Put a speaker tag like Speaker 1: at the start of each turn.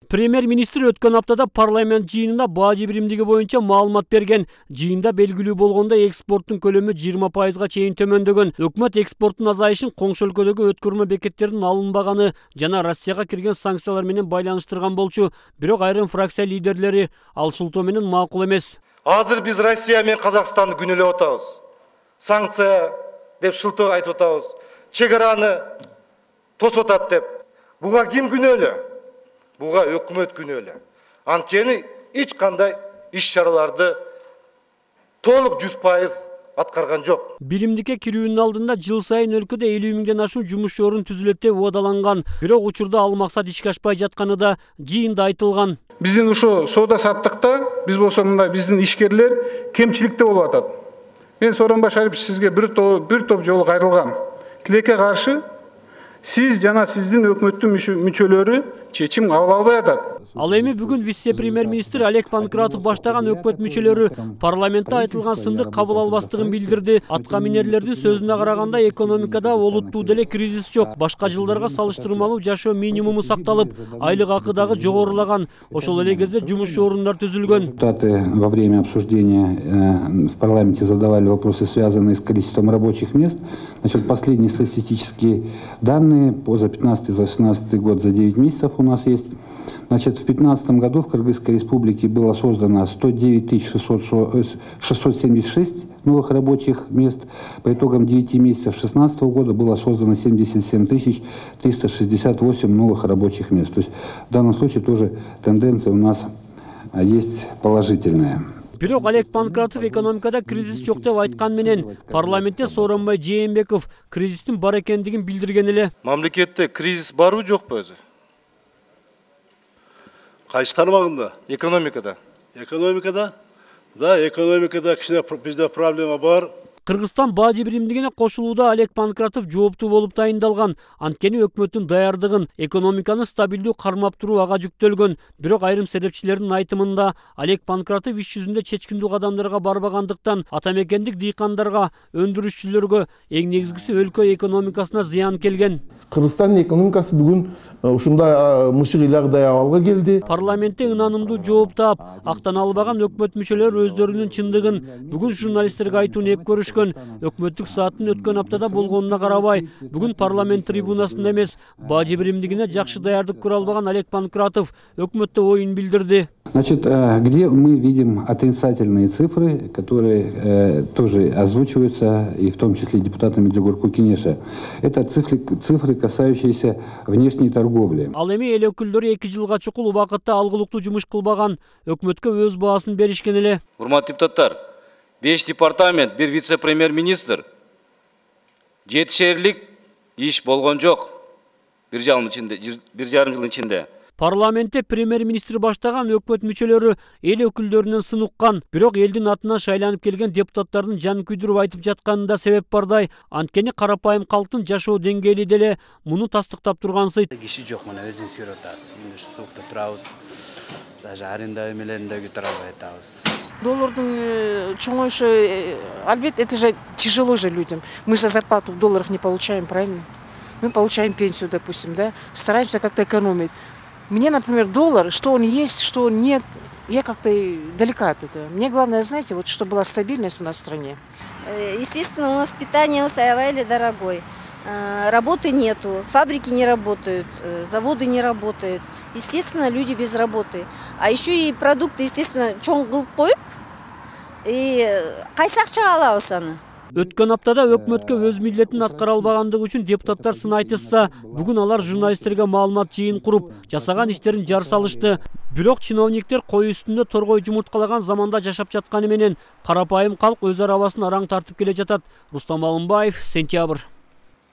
Speaker 1: Премьер-министр өткөн аптада парламент жыйынында бажы биримдиги боюнча маалымат берген. Жыйында белгилүү болгондой экспорттун көлөмү 20%га чейин төмөндөгөн. Өкмөт экспорттун азайышын коңшу өлкөдөгү өткөрмө бекеттердин алынбаганы жана Россияга кирген санкциялар менен байланыштырган болчу. Бирок айрым фракция лидерлери ал шылтоо менен макул эмес.
Speaker 2: Азыр биз Россия менен Казакстанды күнөөлөп атабыз. Санкция деп шылтоо айтып атабыз. Чек араны тосуп атат деп. Буга ким күнөөлүү? Буга өкмөт күнөөлүү. Анткени эч кандай иш-чараларды толук 100% аткарган жок.
Speaker 1: Биримдикке кирүүнүн алдында жыл сайын өлкөдө 50 миңден ашуун жумуш орун түзүлөт деп убадаланган. Бирок учурда ал максат ишке ашпай жатканы да жыйында айтылган.
Speaker 3: Биздин ушул соода саттыкта биз болсо мындай биздин ишкерлер кемчиликте болуп атат. Мен Сооронбай Шарипович сизге бир топ жолу кайрылгам. Тилекке каршы сиз жана сиздин өкмөттүн мүчөлөрү чечим кабыл албай атат.
Speaker 1: Ал эми бүгүн вице-премьер-министр Олег Панкратов баштаган өкмөт мүчөлөрү парламентте айтылган сынды кабыл албастыгын билдирди. Атка минерлердин сөзүнө караганда экономикада олуттуу деле кризис жок. Башка жылдарга салыштырмалуу жашоо минимуму сакталып, айлык акы дагы жогорулаган. Ошол эле кезде жумуш орундар түзүлгөн.
Speaker 4: Депутаты во время обсуждения в парламенте задавали вопросы, связанные с количеством рабочих мест. Значит, последние статистические данные за 15-16 год за 9 месяцев у нас есть. Значит, в 2015 году в Кыргызской республике было создано 109 676 новых рабочих мест. По итогам 9 месяцев 2016 года было создано 77 368 новых рабочих мест. То есть в данном случае тоже тенденция у нас есть положительная.
Speaker 1: Бирок Олег Панкратов экономикада кризис жок деп айткан менен парламентте Сооронбай Жээнбеков кризистин бар экендигин билдирген эле.
Speaker 2: Мамлекетте кризис барбы жокпу өзү?
Speaker 5: Кайсы тармагында?
Speaker 2: Экономикада.
Speaker 5: Экономикада? Да, экономикада кичине бизде проблема бар.
Speaker 1: Кыргызстан бажы биримдигине кошулууда Олег Панкратов жооптуу болуп тайындалган. Анткени өкмөттүн даярдыгын, экономиканы стабилдүү кармап туруу ага жүктөлгөн. Бирок айрым серепчилердин айтымында Олег Панкратов иш жүзүндө чечкиндүү кадамдарга барбагандыктан ата мекендик дыйкандарга, өндүрүшчүлөргө, эң негизгиси өлкө экономикасына зыян келген.
Speaker 6: Кыргызстандын экономикасы бүгүн ушундай мышык ыйлагыдай абалга келди.
Speaker 1: Парламентте ынанымдуу жооп таап, актана албаган өкмөт мүчөлөрү өздөрүнүн чындыгын бүгүн журналисттерге айтууну эп көрүшкөн. Өкмөттүк сааттын өткөн аптада болгонуна карабай, бүгүн парламент трибунасында эмес, бажы биримдигине жакшы даярдык көрө албаган Олег Панкратов өкмөттө оюн билдирди.
Speaker 4: Значит, где мы видим отрицательные цифры, которые тоже озвучиваются, и в том числе депутатами Джугурку Кенеша. Это цифры, касающиеся внешней торговли.
Speaker 1: Ал эми эл өкүлдөрү 2 жылга чукул убакытта алгылыктуу жумуш кылбаган, өкмөткө өз баасын беришкен эле.
Speaker 7: Урматтуу депутаттар, 5 департамент, 1 вице-премьер-министр, 7 шээрлик иш болгон жок. 1,5 жыл ичинде.
Speaker 1: Парламентте премьер-министр баштаган өкмөт мүчөлөрү эл өкүлдөрүнөн сын уккан, бирок элдин атынан шайланып келген депутаттардын жанын күйдүрүп айтып жатканында себеп бардай. Анткени карапайым калктын жашоо деңгээли деле муну тастыктап тургансый.
Speaker 8: Киши жок, мына өзүн сүйрөп атабыз. Мына ушу суукта турабыз. Даже аренда эмелеринде көтөрө албай атабыз.
Speaker 9: Доллардың чоңоюшу, албетте, это же тяжело же людям. Мы же зарплату в долларах не получаем, правильно? Мы получаем пенсию, допустим, да? Стараемся как-то экономить. Мне, например, доллар, что он есть, что он нет, я как-то далека от этого. Мне главное, знаете, вот чтобы была стабильность у нас в стране.
Speaker 10: Естественно, у нас питание у Саявайли дорогой. Работы нету, фабрики не работают, заводы не работают. Естественно, люди без работы. А еще и продукты, естественно, чоң кылып коюп, и кайсы акчага алабыз аны?
Speaker 1: Өткөн аптада өкмөткө өз милдетин аткара албагандыгы үчүн депутаттар сын айтышса, бүгүн алар журналисттерге маалымат жыйын куруп, жасаган иштерин жар салышты. Бирок чиновниктер кой үстүндө торгой жумурткалаган заманда жашап жатканы менен карапайым калк өз арабасын араң тартып келе жатат. Рустам Алымбаев, Сентябрь.